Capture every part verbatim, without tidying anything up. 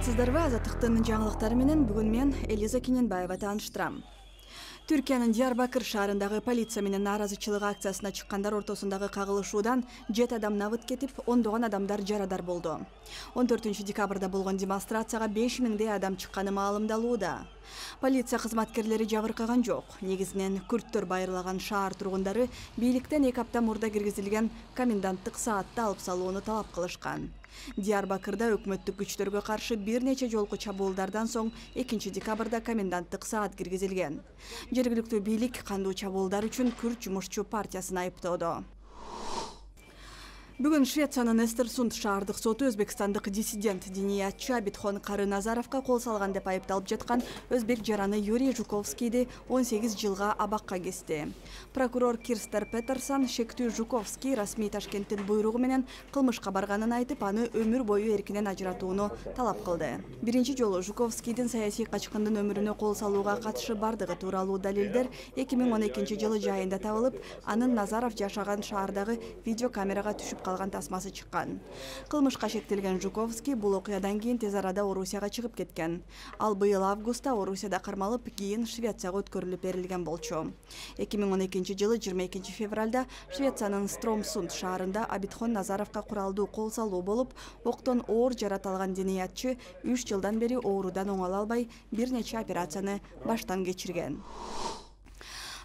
Саламатсыздарбы? Азаттыктын жаңылыктары менен бүгүн мен Элиза Кененбаева тааныштырам. Түркиянын Диярбакыр шаарындагы полиция менен нааразычылык акциясына чыккандар ортосундагы кагылышуудан жети адам набыт кетип, ондогон адамдар жарадар болду. он төртүнчү декабрда болгон демонстрацияга беш миңдей адам чыкканы маалымдалууда. Полиция кызматкерлери жабыркаган жок. Негизинен күрттөр байырлаган шаар тургундары бийликтен эки апта мурда киргизилген коменданттык саатты алып салууну талап кылышкан. Диярбакырда өкмөттүк күчтөргө каршы бир нече жолку чабуулдардан соң экинчи декабрда коменданттык саат киргизилген. Жергиликтүү бийлик кандуу чабуулдар үчүн Күрт жумушчу партиясын айыптоодо. Бүгүн Швециянын Эстерсунд шаардык соту өзбекстандык диссидент диниятчы Абитхон Кары-Назаровго кол салган деп айыпталып жаткан өзбек жараны Юрий Жуковскийди он сегиз жылга абакка кести. Прокурор Кирстер Петерсон шектүү Жуковский расмий Ташкенттин буйругу менен кылмышка барганын айтып, аны өмүр бою эркинен ажыратууну талап кылды. Биринчи жолу Жуковскийдин саясий качкындын өмүрүнө кол салууга катышы бардыгы тууралуу далилдер эки миң он экинчи жылы жайында табылып, анын Назаров жашаган шаардагы видеокамерага түшүп калган тасмасы чыккан. Кылмышка шектелген Жуковский бул окуядан кийин тез арада Орусияга чыгып кеткен. Ал быйыл августта Орусияда кармалып, кийин Швецияга өткөрүлүп берилген болчу. эки миң он экинчи жылы жыйырма экинчи февралда Швециянын Стромсунд шаарында Абитхон Назаровго куралдуу кол салуу болуп, октон оор жарат алган диниятчы үч жылдан бери оорудан оңоло албай бир нече операцияны баштан кечирген.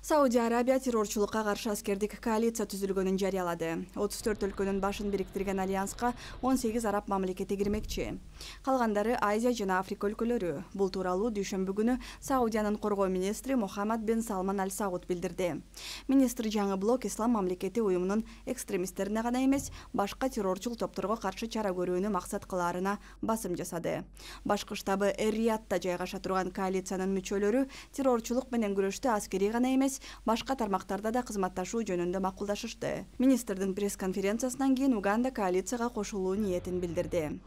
Саудия Арабия террорчулукка каршы аскердик коалиция түзүлгөнүн жарыялады. отуз төрт өлкөнүн башын бириктирген альянска он сегиз араб мамлекети кирмекчи. Калгандары Азия жана Африка өлкөлөрү. Бул тууралуу дүйшөмбү күнү Саудиянын коргоо министри Мухаммад бен Салман Аль Сауд билдирди. Министр жаңы блок Ислам мамлекети уюмунун экстремисттерине гана эмес, башка террорчул топторго каршы чара көрүүнү максат кылаарына басым жасады. Башкы штабы Эр-Риядта жайгаша турган коалициянын мүчөлөрү террорчулук менен күрөштө аскерий гана эмес, башка тармактарда да кызматташуу жөнүндө макулдашышты. Министрдин пресс-конференциясынан кийин Уганда коалицияга кошулуу ниетин билдирди.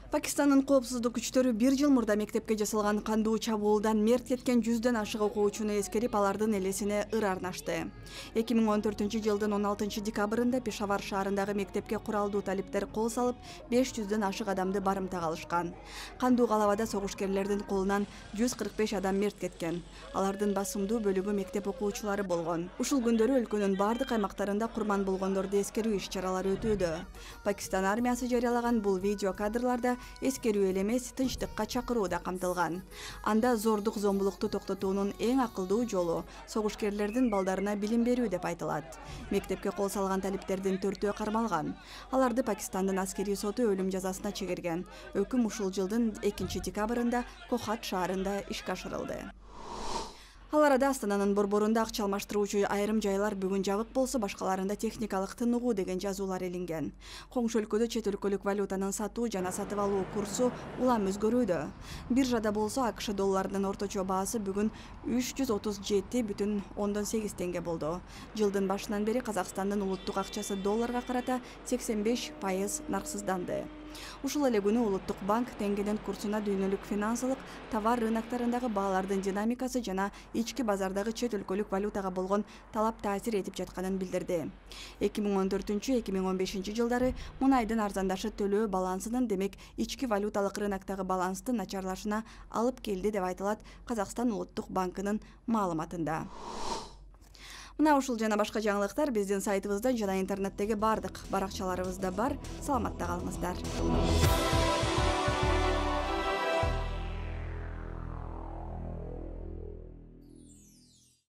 Пакистандын коопсуздук күчтөрү бир жыл мурда мектепке жасалган кандуу чабуулдан мерт кеткен жүздөн ашык окуучуну эскерип, алардын элесине ыр арнашты. эки миң он төртүнчү жылдын он алтынчы декабрында Пешавар шаарындагы мектепке куралдуу талиптер кол салып, беш жүздөн ашык адамды барымтага алышкан. Кандуу калабада согушкерлердин колунан жүз кырк беш адам мерт кеткен. Алардын басымдуу бөлүгү мектеп окуучулары болгон. Ушул күндөрү өлкөнүн бардык аймактарында курман болгондорду эскерүү иш-чаралары өтүүдө. Пакистан армиясы жарыялаган бул видео кадрларда эскерүү эле эмес, тынчтыкка чакыруу да камтылган. Анда зордук зомбулукту токтотуунун эң акылдуу жолу согушкерлердин балдарына билим берүү деп айтылат. Мектепке кол салган талиптердин төртөө кармалган. Аларды Пакистандын аскерий соту өлүм жазасына чегерген. Өкүм ушул жылдын экинчи декабрында Кохат шаарында ишке ашырылды. Ал арада Астананын борборунда акча алмаштыруучу айрым жайлар бүгүн жабык болсо, башкаларында техникалык тыныгуу деген жазуулар илинген. Коңшу өлкөдө чет өлкөлүк валютанын сатуу жана сатып алуу курсу улам өзгөрүүдө. Биржада болсо АКШ долларынын орточо баасы бүгүн үч жүз отуз жети бүтүн ондон сегиз теңге болду. Жылдын башынан бери Казакстандын улуттук акчасы долларга карата сексен беш пайыз нарксызданды. Ушул эле күнү Улуттук банк теңгенин курсуна дүйнөлүк финансылык, товар рыноктарындагы баалардын динамикасы жана ички базардагы чет өлкөлүк валютага болгон талап таасир этип жатканын билдирди. эки миң он төртүнчү — эки миң он бешинчи жылдары мунайдын арзандашы төлөө балансынын, демек ички валюталык рыноктогу баланстын начарлашына алып келди деп айтылат Казакстан Улуттук банкынын маалыматында. Мына ушул жана башка жаңылыктар биздин сайтыбызда жана интернеттеги бардык баракчаларыбызда бар. Саламатта калыңыздар.